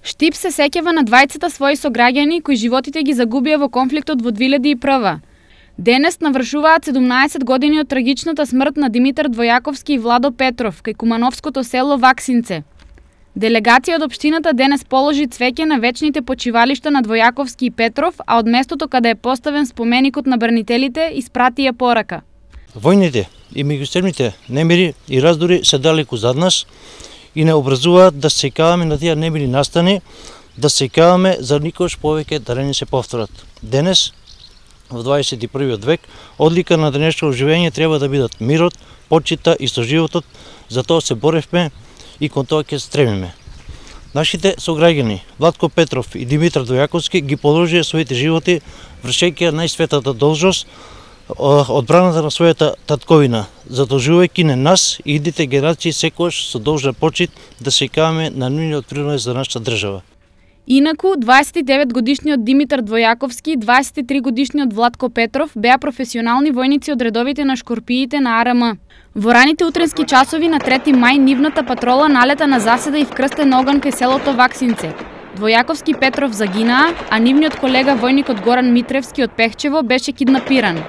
Штип се сеќава на двајцата своји сограѓани кои животите ги загубија во конфликтот во 2001. Денес навршуваат 17 години од трагичната смрт на Димитар Двојаковски и Владо Петров кај кумановското село Ваксинце. Делегација од општината денес положи цвеќе на вечните почивалишта на Двојаковски и Петров, а од местото каде е поставен споменикот на бранителите испратија порака. Војните и меѓусебните немири и раздори се далеку зад нас и не образуваат да се сеќаваме на тие немири настани, да се сеќаваме за никош повеќе да не се повторат. Денес, во 21. век, одлика на денешното живење треба да бидат мирот, почита и соживотот, затоа се боревме и кон тоа ќе стремиме. Нашите сограѓани Владко Петров и Димитар Двојаковски ги положија своите животи вршејќи најсветата должност, одбраната на својата татковина, задолжувајќи не нас и идните генерации секогаш со должна почит да се сеќаваме на нивниот принос за нашата држава. Инаку, 29-годишниот Димитар Двојаковски и 23-годишниот Владко Петров беа професионални војници од редовите на шкорпиите на АРМ. Во раните утренски часови на 3 мај нивната патрола налета на заседа и вкрстен оган кај селото Ваксинце. Двојаковски Петров загинаа, а нивниот колега војникот Горан Митревски од Пехчево беше киднапиран.